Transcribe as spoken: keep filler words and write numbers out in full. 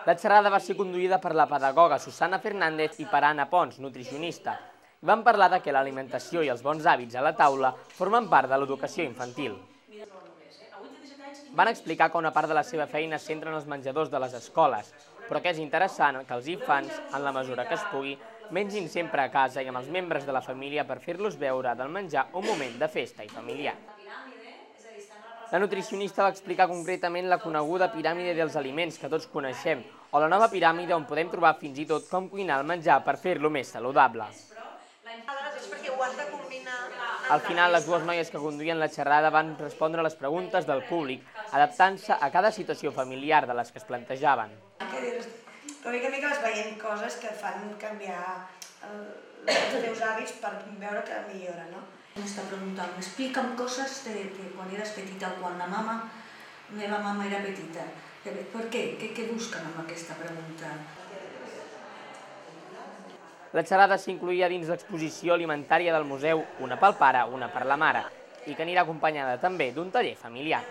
La xerrada va ser conduïda per la pedagoga Susana Fernández i per Anna Pons, nutricionista. Van parlar de que l'alimentació i els bons hàbits a la taula formen part de l'educació infantil. Van explicar que una part de la seva feina es centra en els menjadors de les escoles, però que és interessant que els infants, en la mesura que es pugui, mengin sempre a casa i amb els membres de la família per fer-los veure del menjar un moment de festa i familiar. La nutricionista va explicar concretament la coneguda piràmide dels aliments que tots coneixem, o la nova piràmide on podem trobar fins i tot com cuinar el menjar per fer-lo més saludable. Al final, les dues noies que conduïen la xerrada van respondre a les preguntes del públic, adaptant-se a cada situació familiar de les que es plantejaven. Però mica en mica vas veient coses que fan canviar els teus hàbits per veure que millora, no? M'està preguntant, m'explica'm coses de quan eres petita o quan la mama, la meva mama era petita. Per què? Què busquen amb aquesta pregunta? La xerrada s'incloïa dins l'exposició alimentària del museu Una pel pare, una per la mare, i que anirà acompanyada també d'un taller familiar.